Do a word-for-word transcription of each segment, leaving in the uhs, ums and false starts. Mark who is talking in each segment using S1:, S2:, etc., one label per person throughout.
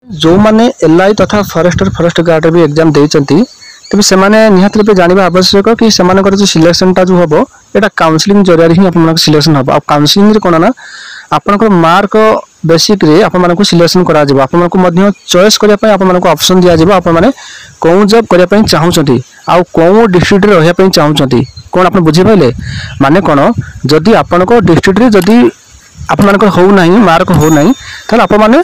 S1: ଯେଉଁମାନେ L I ତଥା forester forest ଗାର୍ଡ଼ରେ ବି exam ଦେଇଛନ୍ତି ତେବେ ସେମାନେ ନିହାତି ରୂପେ ଜାଣିବା ଆବଶ୍ୟକ କି ସେମାନଙ୍କର ଯେଉଁ ସିଲେକ୍ସନଟା ଯେଉଁ ହେବ ଏଇଟା କାଉନସିଲିଂ ଜରିଆରେ ହିଁ ଆପଣମାନଙ୍କ ସିଲେକ୍ସନ ହେବ ଆଉ କାଉନସିଲିଂରେ କ'ଣ ନା ଆପଣଙ୍କର ମାର୍କ ବେସିକ୍ରେ ଆପଣମାନଙ୍କୁ ସିଲେକ୍ସନ କରାଯିବ ଆପଣମାନଙ୍କୁ ମଧ୍ୟ ଚଏସ୍ କରିବା ପାଇଁ ଆପଣମାନଙ୍କୁ ଅପସନ୍ ଦିଆଯିବ ଆପଣମାନେ କେଉଁ ଜବ୍ କରିବା ପାଇଁ ଚାହୁଁଛନ୍ତି ଆଉ କେଉଁ ଡିଷ୍ଟ୍ରିକ୍ଟରେ ରହିବା ପାଇଁ ଚାହୁଁଛନ୍ତି କ'ଣ ଆପଣ ବୁଝିପାରିଲେ ମାନେ କ'ଣ ଯଦି ଆପଣଙ୍କ ଡିଷ୍ଟ୍ରିକ୍ଟରେ ଯଦି ଆପଣମାନଙ୍କର ହେଉନାହିଁ ମାର୍କ ହେଉନାହିଁ ତାହେଲେ ଆପଣମାନେ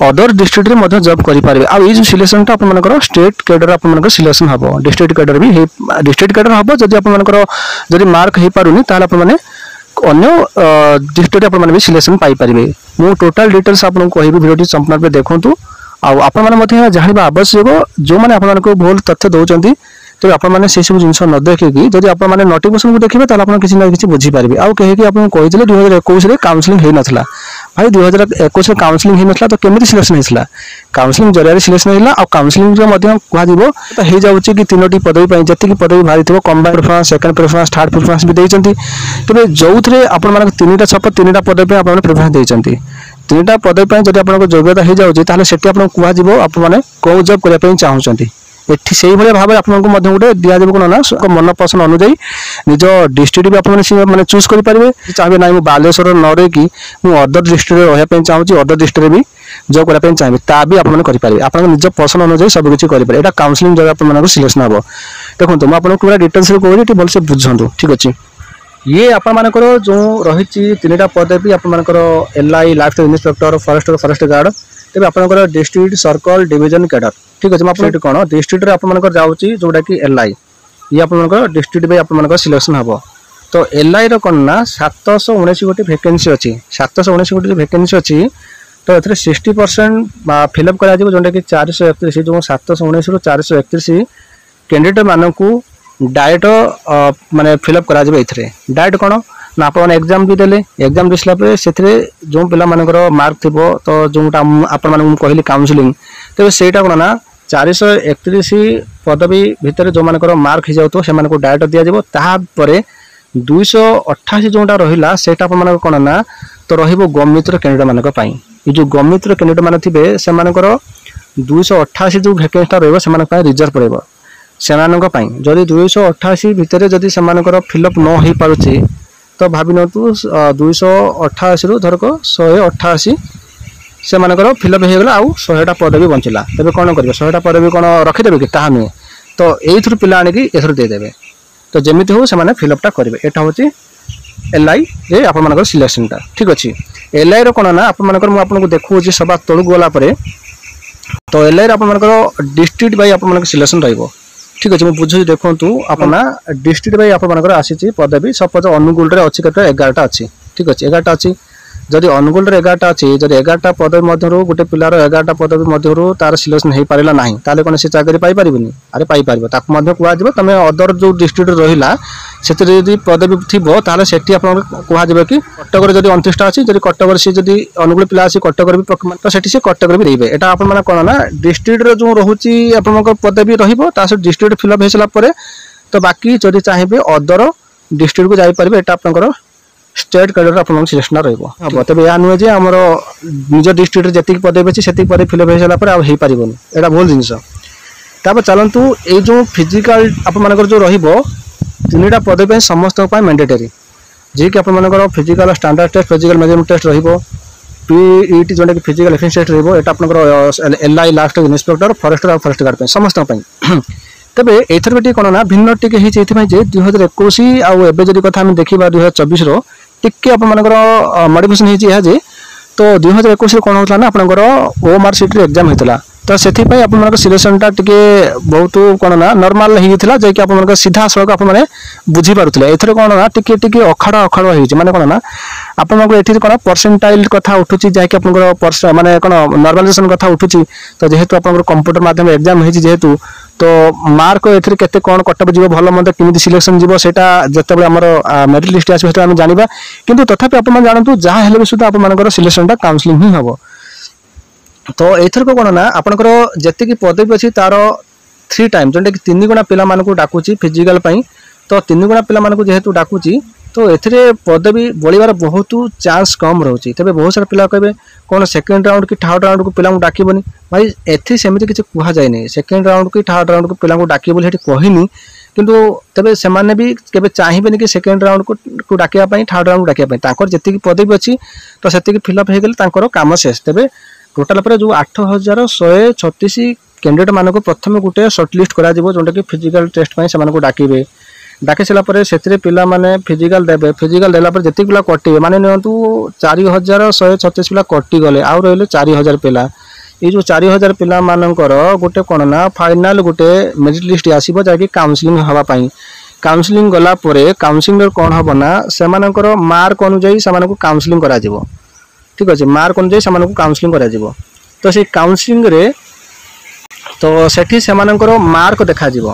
S1: ଅଦର ଡିଷ୍ଟ୍ରିକ୍ଟରେ ମଧ୍ୟ ଜବ୍ କରିପାରିବେ ଆଉ ଏଇ ଯେଉଁ ସିଲେକ୍ସନଟା ଆପଣମାନଙ୍କର ଷ୍ଟେଟ୍ କ୍ୟାଡର ଆପଣମାନଙ୍କର ସିଲେକ୍ସନ ହେବ ଡିଷ୍ଟ୍ରିକ୍ଟ କ୍ୟାଡର ବି ହେଇ ଡିଷ୍ଟ୍ରିକ୍ଟ କ୍ୟାଡର ହେବ ଯଦି ଆପଣମାନଙ୍କର ଯଦି ମାର୍କ ହେଇପାରୁନି ତାହେଲେ ଆପଣମାନେ ଅନ୍ୟ ଡିଷ୍ଟ୍ରିକ୍ଟରେ ଆପଣମାନେ ବି ସିଲେକ୍ସନ ପାଇପାରିବେ ମୁଁ ଟୋଟାଲ ଡିଟେଲ୍ସ ଆପଣଙ୍କୁ କହିବି ଭିଡ଼ିଓଟି ସମ୍ପୂର୍ଣ୍ଣ ରୂପେ ଦେଖନ୍ତୁ ଆଉ ଆପଣମାନେ ମଧ୍ୟ ଏହା ଜାଣିବା ଆବଶ୍ୟକ ଯେଉଁମାନେ ଆପଣମାନଙ୍କୁ ଭୁଲ ତଥ୍ୟ ଦେଉଛନ୍ତି ତେବେ ଆପଣମାନେ ସେସବୁ ଜିନିଷ ନ ଦେଖିକି ଯଦି ଆପଣମାନେ ନୋଟିଫିକେସନକୁ ଦେଖିବେ ତାହେଲେ ଆପଣ କିଛି ନା କିଛି ବୁଝିପାରିବେ ଆଉ କେହି ଆପଣଙ୍କୁ କହିଥିଲେ ଦୁଇ ହଜାର ଏକୋଇଶରେ କାଉନସିଲିଂ ହେଇନଥିଲା ଭାଇ ଦୁଇ ହଜାର ଏକୋଇଶରେ କାଉନସିଲିଂ ହେଇନଥିଲା ତ କେମିତି ସିଲେକ୍ସନ ହେଇଥିଲା କାଉନସିଲିଂ ଜରିଆରେ ସିଲେକ୍ସନ ହେଇଥିଲା ଆଉ କାଉନସିଲିଂରେ ମଧ୍ୟ କୁହାଯିବ ତ ହେଇଯାଉଛି କି ତିନୋଟି ପଦବୀ ପାଇଁ ଯେତିକି ପଦବୀ ବାହାରିଥିବ combine preference second preference third preference ବି ଦେଇଛନ୍ତି ତେବେ ଯେଉଁଥିରେ ଆପଣମାନଙ୍କ ତିନିଟା ଛପ ତିନିଟା ପଦବୀ ପାଇଁ ଆପଣମାନେ ପ୍ରିଫରେନ୍ସ ଦେଇଛନ୍ତି ତିନିଟା ପଦବୀ ପାଇଁ ଯଦି ଆପଣଙ୍କ ଯୋଗ୍ୟତା ହେଇଯାଉଛି ତାହେଲେ ସେଠି ଆପଣଙ୍କୁ କୁହାଯିବ ଆପଣମାନେ କେଉଁ ଜବ୍ କରିବା ପାଇଁ ଚାହୁଁଛନ୍ତି ଏଠି ସେଇଭଳିଆ ଭାବରେ ଆପଣଙ୍କୁ ମଧ୍ୟ ଗୋଟେ ଦିଆଯିବ କ'ଣ ନା ମନ ପସନ୍ଦ ଅନୁଯାୟୀ ନିଜ ଡିଷ୍ଟ୍ରିକ୍ଟ ବି ଆପଣମାନେ ସେ ମାନେ ଚୁଜ୍ କରିପାରିବେ ଚାହିଁବେ ନାହିଁ ମୁଁ ବାଲେଶ୍ୱର ନ ରହିକି ମୁଁ ଅଦର ଡିଷ୍ଟ୍ରିକ୍ଟରେ ରହିବା ପାଇଁ ଚାହୁଁଛି ଅଦର ଡିଷ୍ଟ୍ରିକ୍ଟରେ ବି ଜବ୍ କରିବା ପାଇଁ ଚାହିଁବେ ତା ବି ଆପଣମାନେ କରିପାରିବେ ଆପଣଙ୍କ ନିଜ ପସନ୍ଦ ଅନୁଯାୟୀ ସବୁ କିଛି କରିପାରିବେ ଏଇଟା କାଉନସିଲିଂ ଦ୍ୱାରା ଆପଣମାନଙ୍କୁ ସିଲେକ୍ସନ ହେବ ଦେଖନ୍ତୁ ମୁଁ ଆପଣଙ୍କୁ ପୁରା ଡିଟେଲ୍ସରେ କହୁଛି ଟିକେ ଭଲସେ ବୁଝନ୍ତୁ ଠିକ୍ ଅଛି ଇଏ ଆପଣମାନଙ୍କର ଯେଉଁ ରହିଛି ତିନିଟା ପଦବୀ ଆପଣମାନଙ୍କର L I life inspector forester forest guard ତେବେ ଆପଣଙ୍କର ଡିଷ୍ଟ୍ରିକ୍ଟ ସର୍କଲ ଡିଭିଜନ କ୍ୟାଡର ଠିକ୍ ଅଛି ମୁଁ ଆପଣ ଏଠି କ'ଣ ଡିଷ୍ଟ୍ରିକ୍ଟରେ ଆପଣମାନଙ୍କର ଯାଉଛି ଯେଉଁଟାକି ଏଲ୍ I ଇଏ ଆପଣଙ୍କର ଡିଷ୍ଟ୍ରିକ୍ଟ ବାଇ ଆପଣମାନଙ୍କର ସିଲେକ୍ସନ ହେବ ତ ଏଲ୍ ଆଇର କ'ଣ ନା ସାତଶହ ଉଣେଇଶ ଗୋଟି ଭେକେନ୍ସି ଅଛି ସାତଶହ ଉଣେଇଶ ଗୋଟି ଯେଉଁ ଭେକେନ୍ସି ଅଛି ତ ଏଥିରେ ସିକ୍ସଟି ପରସେଣ୍ଟ ଫିଲ୍ଅପ୍ କରାଯିବ ଯେଉଁଟାକି ଚାରିଶହ ଏକତିରିଶ ଯେଉଁ ସାତଶହ ଉଣେଇଶରୁ ଚାରିଶହ ଏକତିରିଶ କ୍ୟାଣ୍ଡିଡେଟ୍ ମାନଙ୍କୁ ଡାଇରେକ୍ଟ ମାନେ ଫିଲ୍ଅପ୍ କରାଯିବ ଏଥିରେ ଡାଇରେକ୍ଟ କ'ଣ ନା ଆପଣମାନେ ଏକ୍ଜାମ୍ ବି ଦେଲେ ଏକ୍ଜାମ୍ ଦେଇସାରିଲା ପରେ ସେଥିରେ ଯେଉଁ ପିଲାମାନଙ୍କର ମାର୍କ ଥିବ ତ ଯେଉଁଟା ଆପଣମାନଙ୍କୁ ମୁଁ କହିଲି କାଉନସିଲିଂ ତେବେ ସେଇଟା କ'ଣ ନା ଚାରିଶହ ଏକତିରିଶ ପଦବୀ ଭିତରେ ଯେଉଁମାନଙ୍କର ମାର୍କ ହେଇଯାଉଥିବ ସେମାନଙ୍କୁ ଡାଇରେକ୍ଟ ଦିଆଯିବ ତାପରେ ଦୁଇଶହ ଅଠାଅଶୀ ଯେଉଁଟା ରହିଲା ସେଇଟା ଆପଣମାନଙ୍କର କ'ଣ ନା ତ ରହିବ ଗମିତର କ୍ୟାଣ୍ଡିଡେଟ୍ ମାନଙ୍କ ପାଇଁ ଏ ଯେଉଁ ଗମିତର କ୍ୟାଣ୍ଡିଡେଟ୍ ମାନେ ଥିବେ ସେମାନଙ୍କର ଦୁଇଶହ ଅଠାଅଶୀ ଯେଉଁ ଭେକେନ୍ସିଟା ରହିବ ସେମାନଙ୍କ ପାଇଁ ରିଜର୍ଭ ରହିବ ସେମାନଙ୍କ ପାଇଁ ଯଦି ଦୁଇଶହ ଅଠାଅଶୀ ଭିତରେ ଯଦି ସେମାନଙ୍କର ଫିଲ୍ଅପ୍ ନ ହେଇପାରୁଛି ତ ଭାବି ନିଅନ୍ତୁ ଦୁଇଶହ ଅଠାଅଶୀରୁ ଧରକ ଶହେ ଅଠାଅଶୀ ସେମାନଙ୍କର ଫିଲ୍ଅପ୍ ହେଇଗଲା ଆଉ ଶହେଟା ପଦବୀ ବଞ୍ଚିଲା ତେବେ କ'ଣ କରିବେ ଶହେଟା ପଦବୀ କ'ଣ ରଖିଦେବେ କି ତାହା ନୁହେଁ ତ ଏଇଥିରୁ ପିଲା ଆଣିକି ଏଥିରୁ ଦେଇଦେବେ ତ ଯେମିତି ହଉ ସେମାନେ ଫିଲ୍ଅପ୍ଟା କରିବେ ଏଇଟା ହେଉଛି ଏଲ୍ ଆଇରେ ଆପଣମାନଙ୍କର ସିଲେକ୍ସନଟା ଠିକ୍ ଅଛି ଏଲ୍ ଆଇର କ'ଣ ନା ଆପଣମାନଙ୍କର ମୁଁ ଆପଣଙ୍କୁ ଦେଖାଉଛି ସବା ତଳକୁ ଗଲା ପରେ ତ ଏଲ୍ ଆଇର ଆପଣମାନଙ୍କର ଡିଷ୍ଟ୍ରିକ୍ଟ ବାଇ ଆପଣମାନଙ୍କ ସିଲେକ୍ସନ ରହିବ ଠିକ୍ ଅଛି ମୁଁ ବୁଝୁଛି ଦେଖନ୍ତୁ ଆପଣ ଡିଷ୍ଟ୍ରିକ୍ଟ ବାଇ ଆପଣମାନଙ୍କର ଆସିଛି ପଦବୀ ସପୋଜ ଅନୁଗୁଳରେ ଅଛି କେତେ ଏଗାରଟା ଅଛି ଠିକ୍ ଅଛି ଏଗାରଟା ଅଛି ଯଦି ଅନୁଗୁଳରେ ଏଗାରଟା ଅଛି ଯଦି ଏଗାରଟା ପଦବୀ ମଧ୍ୟରୁ ଗୋଟେ ପିଲାର ଏଗାରଟା ପଦବୀ ମଧ୍ୟରୁ ତାର ସିଲେକ୍ସନ ହେଇପାରିଲା ନାହିଁ ତାହେଲେ କ'ଣ ସେ ଚାକିରି ପାଇପାରିବନି ଆରେ ପାଇପାରିବ ତାକୁ ମଧ୍ୟ କୁହାଯିବ ତମେ ଅଦର ଯେଉଁ ଡିଷ୍ଟ୍ରିକ୍ଟ ରହିଲା ସେଥିରେ ଯଦି ପଦବୀ ଥିବ ତାହେଲେ ସେଠି ଆପଣଙ୍କୁ କୁହାଯିବ କି କଟକରେ ଯଦି ଅଣତିରିଶଟା ଅଛି ଯଦି କଟକରେ ସେ ଯଦି ଅନୁଗୁଳ ପିଲା ଆସି କଟକରେ ବି ତ ସେଠି ସେ କଟକରେ ବି ଦେଇବେ ଏଇଟା ଆପଣମାନେ କ'ଣ ନା ଡିଷ୍ଟ୍ରିକ୍ଟର ଯେଉଁ ରହୁଛି ଆପଣଙ୍କ ପଦବୀ ରହିବ ତା ସହିତ ଡିଷ୍ଟ୍ରିକ୍ଟ ଫିଲ୍ଅପ୍ ହେଇସାରିଲା ପରେ ତ ବାକି ଯଦି ଚାହିଁବେ ଅଦର ଡିଷ୍ଟ୍ରିକ୍ଟକୁ ଯାଇପାରିବେ ଏଇଟା ଆପଣଙ୍କର ଷ୍ଟେଟ୍ କ୍ୟାଡର ଆପଣଙ୍କ ସିଲେକ୍ସନ ରହିବ ହେବ ତେବେ ଏହା ନୁହେଁ ଯେ ଆମର ନିଜ ଡିଷ୍ଟ୍ରିକ୍ଟରେ ଯେତିକି ପଦବୀ ଅଛି ସେତିକି ପଦବୀ ଫିଲ୍ଅପ୍ ହେଇସାରିଲା ପରେ ଆଉ ହେଇପାରିବନି ଏଇଟା ଭୁଲ ଜିନିଷ ତାପରେ ଚାଲନ୍ତୁ ଏଇ ଯେଉଁ ଫିଜିକାଲ ଆପଣମାନଙ୍କର ଯେଉଁ ରହିବ ତିନିଟା ପଦବୀ ପାଇଁ ସମସ୍ତଙ୍କ ପାଇଁ ମ୍ୟାଣ୍ଡେଟରୀ ଯିଏକି ଆପଣମାନଙ୍କର physical standard test physical measurement test ରହିବ ପିଇଟି ଯେଉଁଟାକି ଫିଜିକାଲ ଏଫିସିଏନ୍ସି ଟେଷ୍ଟ ରହିବ ଏଇଟା ଆପଣଙ୍କର L I last inspector forester ଆଉ ଫରେଷ୍ଟ ଗାର୍ଡ଼ ପାଇଁ ସମସ୍ତଙ୍କ ପାଇଁ ତେବେ ଏଇଥର ବି ଟିକେ କ'ଣ ନା ଭିନ୍ନ ଟିକେ ହେଇଛି ଏଥିପାଇଁ ଯେ ଦୁଇ ହଜାର ଏକୋଇଶ ଆଉ ଏବେ ଯଦି କଥା ଆମେ ଦେଖିବା ଦୁଇ ହଜାର ଚବିଶର ଟିକେ ଆପଣମାନଙ୍କର ମଡ଼ିଫିକେସନ୍ ହେଇଛି ଏହା ଯେ ତ ଦୁଇ ହଜାର ଏକୋଇଶରେ କ'ଣ ହେଉଥିଲା ନା ଆପଣଙ୍କର ଓ ମାର୍କ ସିଟ୍ରେ ଏକ୍ଜାମ୍ ହେଇଥିଲା ତ ସେଥିପାଇଁ ଆପଣମାନଙ୍କ ସିଲେକ୍ସନଟା ଟିକେ ବହୁତ କ'ଣ ନା ନର୍ମାଲ ହେଇଯାଇଥିଲା ଯାଇକି ଆପଣମାନଙ୍କ ସିଧାସଳଖ ଆପଣମାନେ ବୁଝିପାରୁଥିଲେ ଏଥର କ'ଣ ନା ଟିକେ ଟିକେ ଅଖାଡ଼ା ଅଖାଡ଼ୁଆ ହେଇଛି ମାନେ କ'ଣ ନା ଆପଣଙ୍କର ଏଠି କ'ଣ ପରସେଣ୍ଟାଇଲ କଥା ଉଠୁଛି ଯାହାକି ଆପଣଙ୍କର ମାନେ କ'ଣ ନର୍ମାଲାଇଜେସନ କଥା ଉଠୁଛି ତ ଯେହେତୁ ଆପଣଙ୍କର କମ୍ପ୍ୟୁଟର ମାଧ୍ୟମରେ ଏକ୍ଜାମ୍ ହେଇଛି ଯେହେତୁ ତ ମାର୍କ ଏଥିରେ କେତେ କ'ଣ କଟଅଫ୍ ଯିବ ଭଲ ମନ୍ଦ କେମିତି ସିଲେକ୍ସନ ଯିବ ସେଇଟା ଯେତେବେଳେ ଆମର ମେରିଟ୍ ଲିଷ୍ଟ ଆସିବ ସେତେବେଳେ ଆମେ ଜାଣିବା କିନ୍ତୁ ତଥାପି ଆପଣମାନେ ଜାଣନ୍ତୁ ଯାହା ହେଲେ ବି ସୁଦ୍ଧା ଆପଣମାନଙ୍କର ସିଲେକ୍ସନଟା କାଉନସିଲିଂ ହିଁ ହେବ ତ ଏଇଥରକ କ'ଣ ନା ଆପଣଙ୍କର ଯେତିକି ପଦବୀ ଅଛି ତାର ଥ୍ରୀ ଟାଇମ୍ ଯେଉଁଟାକି ତିନି ଗୁଣା ପିଲାମାନଙ୍କୁ ଡାକୁଛି ଫିଜିକାଲ ପାଇଁ ତ ତିନି ଗୁଣା ପିଲାମାନଙ୍କୁ ଯେହେତୁ ଡାକୁଛି ତ ଏଥିରେ ପଦବୀ ବଳିବାର ବହୁତ ଚାନ୍ସ କମ୍ ରହୁଛି। ତେବେ ବହୁତ ସାରା ପିଲା କହିବେ, କ'ଣ ସେକେଣ୍ଡ ରାଉଣ୍ଡ କି ଥାର୍ଡ଼ ରାଉଣ୍ଡକୁ ପିଲାଙ୍କୁ ଡାକିବନି? ଭାଇ, ଏଠି ସେମିତି କିଛି କୁହାଯାଇନି। ସେକେଣ୍ଡ ରାଉଣ୍ଡ କି ଥାର୍ଡ଼ ରାଉଣ୍ଡକୁ ପିଲାଙ୍କୁ ଡାକିବ ବୋଲି ସେଠି କହିନି। କିନ୍ତୁ ତେବେ ସେମାନେ ବି କେବେ ଚାହିଁବେନି କି ସେକେଣ୍ଡ ରାଉଣ୍ଡକୁ ଡାକିବା ପାଇଁ, ଥାର୍ଡ଼ ରାଉଣ୍ଡକୁ ଡାକିବା ପାଇଁ। ତାଙ୍କର ଯେତିକି ପଦବୀ ଅଛି, ତ ସେତିକି ଫିଲ୍ଅପ୍ ହେଇଗଲେ ତାଙ୍କର କାମ ଶେଷ। ତେବେ ଟୋଟାଲ ଉପରେ ଯେଉଁ ଆଠ ହଜାର ଶହେ ଛତିଶ କ୍ୟାଣ୍ଡିଡେଟ୍ ମାନଙ୍କୁ ପ୍ରଥମେ ଗୋଟେ ସର୍ଟ ଲିଷ୍ଟ କରାଯିବ, ଯେଉଁଟାକି ଫିଜିକାଲ ଟେଷ୍ଟ ପାଇଁ ସେମାନଙ୍କୁ ଡାକିବେ। ଡାକି ସାରିଲା ପରେ ସେଥିରେ ପିଲାମାନେ ଫିଜିକାଲ ଦେବେ। ଫିଜିକାଲ ଦେଲା ପରେ ଯେତିକି ପିଲା କଟିବେ, ମାନେ ନିଅନ୍ତୁ ଚାରି ହଜାର ଶହେ ଛତିଶ ପିଲା କଟିଗଲେ, ଆଉ ରହିଲେ ଚାରି ହଜାର ପିଲା। ଏଇ ଯେଉଁ ଚାରି ହଜାର ପିଲାମାନଙ୍କର ଗୋଟେ କ'ଣ ନା ଫାଇନାଲ ଗୋଟେ ମେରିଟ୍ ଲିଷ୍ଟ ଆସିବ, ଯାହାକି କାଉନସିଲିଂ ହେବା ପାଇଁ। କାଉନସିଲିଂ ଗଲା ପରେ କାଉନସିଲିଂରେ କ'ଣ ହେବ ନା ସେମାନଙ୍କର ମାର୍କ ଅନୁଯାୟୀ ସେମାନଙ୍କୁ କାଉନସିଲିଂ କରାଯିବ। ଠିକ୍ ଅଛି, ମାର୍କ ଅନୁଯାୟୀ ସେମାନଙ୍କୁ କାଉନସିଲିଂ କରାଯିବ। ତ ସେଇ କାଉନସିଲିଂରେ ତ ସେଠି ସେମାନଙ୍କର ମାର୍କ ଦେଖାଯିବ।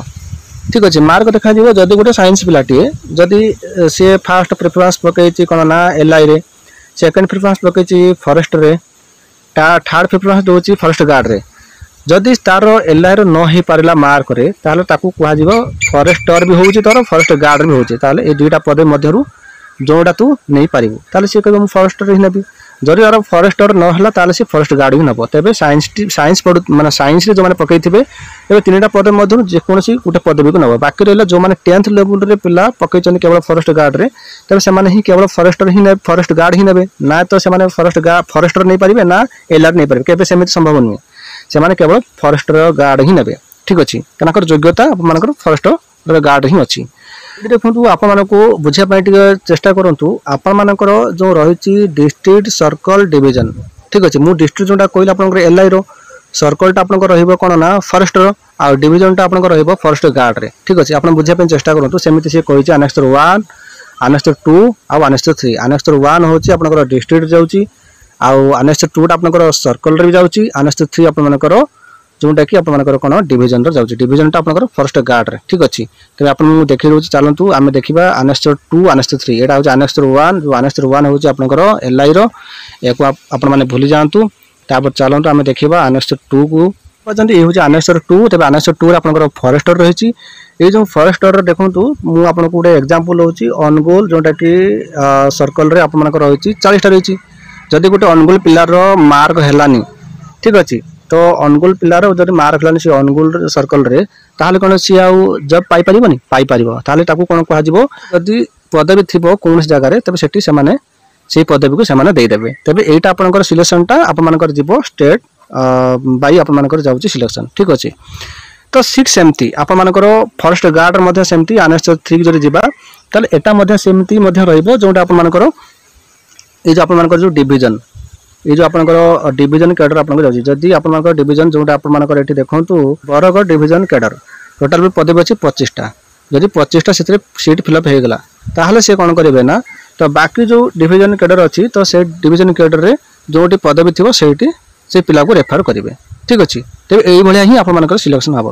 S1: ଠିକ୍ ଅଛି, ମାର୍କ ଦେଖାଯିବ। ଯଦି ଗୋଟେ ସାଇନ୍ସ ପିଲାଟିଏ ଯଦି ସିଏ ଫାଷ୍ଟ ପ୍ରିଫରେନ୍ସ ପକେଇଛି କ'ଣ ନା ଏଲ୍ଆଇରେ, ସେକେଣ୍ଡ ପ୍ରିଫରେନ୍ସ ପକେଇଛି ଫରେଷ୍ଟରେ, ଥାର୍ଡ଼ ପ୍ରିଫରେନ୍ସ ଦେଉଛି ଫରେଷ୍ଟ ଗାର୍ଡ଼ରେ, ଯଦି ତାର ଏଲ୍ଆଇର ନ ହେଇପାରିଲା ମାର୍କରେ, ତାହେଲେ ତାକୁ କୁହାଯିବ ଫରେଷ୍ଟର ବି ହେଉଛି ତୋର, ଫରେଷ୍ଟ ଗାର୍ଡ଼ ବି ହେଉଛି, ତାହେଲେ ଏଇ ଦୁଇଟା ପଦବୀ ମଧ୍ୟରୁ ଯେଉଁଟା ତୁ ନେଇପାରିବୁ। ତାହେଲେ ସିଏ କହିବ, ମୁଁ ଫରେଷ୍ଟର ହିଁ ନେବି। ଯଦି ତାର ଫରେଷ୍ଟର ନ ହେଲା, ତାହେଲେ ସେ ଫରେଷ୍ଟ ଗାର୍ଡ଼ ବି ନେବ। ତେବେ ସାଇନ୍ସ ସାଇନ୍ସ ପଢ଼ୁ ମାନେ ସାଇନ୍ସରେ ଯେଉଁମାନେ ପକେଇଥିବେ, ତେବେ ତିନିଟା ପଦ ମଧ୍ୟରୁ ଯେକୌଣସି ଗୋଟେ ପଦବୀକୁ ନେବ। ବାକି ରହିଲା ଯେଉଁମାନେ ଟେନ୍ଥ ଲେବୁଲରେ ପିଲା ପକେଇଛନ୍ତି କେବଳ ଫରେଷ୍ଟ ଗାର୍ଡ଼ରେ, ତେବେ ସେମାନେ ହିଁ କେବଳ ଫରେଷ୍ଟର ହିଁ ଫରେଷ୍ଟ ଗାର୍ଡ଼ ହିଁ ନେବେ। ନା ତ ସେମାନେ ଫରେଷ୍ଟ ଫରେଷ୍ଟର ନେଇପାରିବେ, ନା ଏଲ୍ଆର୍ ନେଇପାରିବେ। କେବେ ସେମିତି ସମ୍ଭବ ନୁହେଁ। ସେମାନେ କେବଳ ଫରେଷ୍ଟର ଗାର୍ଡ଼ ହିଁ ନେବେ। ଠିକ୍ ଅଛି, ତାଙ୍କର ଯୋଗ୍ୟତା ଆପଣମାନଙ୍କର ଫରେଷ୍ଟର ଗାର୍ଡ଼ ହିଁ ଅଛି। ଏଠି ଦେଖନ୍ତୁ, ଆପଣମାନଙ୍କୁ ବୁଝିବା ପାଇଁ ଟିକେ ଚେଷ୍ଟା କରନ୍ତୁ। ଆପଣମାନଙ୍କର ଯେଉଁ ରହିଛି ଡିଷ୍ଟ୍ରିକ୍ଟ, ସର୍କଲ, ଡିଭିଜନ, ଠିକ୍ ଅଛି। ମୁଁ ଡିଷ୍ଟ୍ରିକ୍ଟ ଯେଉଁଟା କହିଲି ଆପଣଙ୍କର ଏଲ୍ଆଇର, ସର୍କଲଟା ଆପଣଙ୍କର ରହିବ କ'ଣ ନା ଫରେଷ୍ଟର, ଆଉ ଡିଭିଜନଟା ଆପଣଙ୍କର ରହିବ ଫରେଷ୍ଟ ଗାର୍ଡ଼ରେ। ଠିକ୍ ଅଛି, ଆପଣ ବୁଝିବା ପାଇଁ ଚେଷ୍ଟା କରନ୍ତୁ। ସେମିତି ସିଏ କହିଛି ଆନେକ୍ସର ୱାନ୍, ଆନେକ୍ସର ଟୁ ଆଉ ଆନେକ୍ସର ଥ୍ରୀ। ଆନେକ୍ସର ୱାନ୍ ହେଉଛି ଆପଣଙ୍କର ଡିଷ୍ଟ୍ରିକ୍ଟ ଯାଉଛି, ଆଉ ଆନେକ୍ସର ଟୁଟା ଆପଣଙ୍କର ସର୍କଲରେ ବି ଯାଉଛି, ଆନେକ୍ସର ଥ୍ରୀ ଆପଣମାନଙ୍କର ଯେଉଁଟାକି ଆପଣମାନଙ୍କର କ'ଣ ଡିଭିଜନର ଯାଉଛି, ଡିଭିଜନଟା ଆପଣଙ୍କର ଫରେଷ୍ଟ ଗାର୍ଡ଼ରେ। ଠିକ୍ ଅଛି, ତେବେ ଆପଣଙ୍କୁ ମୁଁ ଦେଖେଇ ଦେଉଛି। ଚାଲନ୍ତୁ ଆମେ ଦେଖିବା ଆନେକ୍ସର ଟୁ, ଆନେକ୍ସର ଥ୍ରୀ। ଏଇଟା ହେଉଛି ଆନେକ୍ସର ୱାନ୍। ଯେଉଁ ଆନେକ୍ସର ୱାନ୍ ହେଉଛି ଆପଣଙ୍କର ଏଲ୍ଆଇର, ଏହାକୁ ଆପଣମାନେ ଭୁଲି ଯାଆନ୍ତୁ। ତାପରେ ଚାଲନ୍ତୁ ଆମେ ଦେଖିବା ଆନେକ୍ସର ଟୁକୁ ଅଛନ୍ତି। ଏ ହେଉଛି ଆନେକ୍ସର ଟୁ। ତେବେ ଆନେକ୍ସର ଟୁରେ ଆପଣଙ୍କର ଫରେଷ୍ଟର ରହିଛି। ଏଇ ଯେଉଁ ଫରେଷ୍ଟର ଦେଖନ୍ତୁ, ମୁଁ ଆପଣଙ୍କୁ ଗୋଟେ ଏକ୍ଜାମ୍ପଲ୍ ଦେଉଛି। ଅନୁଗୁଳ ଯେଉଁଟାକି ସର୍କଲରେ ଆପଣମାନଙ୍କର ରହିଛି, ଚାଳିଶଟା ରହିଛି। ଯଦି ଗୋଟେ ଅନୁଗୁଳ ପିଲାର ମାର୍କ ହେଲାନି, ଠିକ୍ ଅଛି, ତ ଅନୁଗୁଳ ପିଲାର ଯଦି ମାର୍କ ହେଲାନି ସେ ଅନୁଗୁଳ ସର୍କଲରେ, ତାହେଲେ କ'ଣ ସିଏ ଆଉ ଜବ୍ ପାଇପାରିବନି? ପାଇପାରିବ। ତାହେଲେ ତାକୁ କ'ଣ କୁହାଯିବ? ଯଦି ପଦବୀ ଥିବ କୌଣସି ଜାଗାରେ, ତେବେ ସେଠି ସେମାନେ ସେଇ ପଦବୀକୁ ସେମାନେ ଦେଇଦେବେ। ତେବେ ଏଇଟା ଆପଣଙ୍କର ସିଲେକ୍ସନଟା ଆପଣମାନଙ୍କର ଯିବ ଷ୍ଟେଟ୍ ବାଇ ଆପଣମାନଙ୍କର ଯାଉଛି ସିଲେକ୍ସନ। ଠିକ୍ ଅଛି, ତ ସିଟ୍ ସେମିତି ଆପଣମାନଙ୍କର ଫରେଷ୍ଟ ଗାର୍ଡ଼ର ମଧ୍ୟ ସେମିତି। ଆନେକ୍ସର ଥ୍ରୀ ଯଦି ଯିବା, ତାହେଲେ ଏଟା ମଧ୍ୟ ସେମିତି ମଧ୍ୟ ରହିବ, ଯେଉଁଟା ଆପଣମାନଙ୍କର ଏଇ ଯେଉଁ ଆପଣମାନଙ୍କର ଯେଉଁ ଡିଭିଜନ, ଏଇ ଯେଉଁ ଆପଣଙ୍କର ଡିଭିଜନ କ୍ୟାଡର ଆପଣଙ୍କର ଯାଉଛି। ଯଦି ଆପଣଙ୍କର ଡିଭିଜନ ଯେଉଁଟା ଆପଣମାନଙ୍କର ଏଠି ଦେଖନ୍ତୁ, ବରଗଡ଼ ଡିଭିଜନ କ୍ୟାଡର, ଟୋଟାଲ ବି ପଦବୀ ଅଛି ପଚିଶଟା। ଯଦି ପଚିଶଟା ସେଥିରେ ସିଟ୍ ଫିଲ୍ଅପ୍ ହେଇଗଲା, ତାହେଲେ ସେ କ'ଣ କରିବେ ନା ତ ବାକି ଯେଉଁ ଡିଭିଜନ କ୍ୟାଡର ଅଛି, ତ ସେ ଡିଭିଜନ କ୍ୟାଡରରେ ଯେଉଁଠି ପଦବୀ ଥିବ, ସେଇଠି ସେ ପିଲାକୁ ରେଫର କରିବେ। ଠିକ୍ ଅଛି, ତେବେ ଏଇଭଳିଆ ହିଁ ଆପଣମାନଙ୍କର ସିଲେକ୍ସନ୍ ହେବ।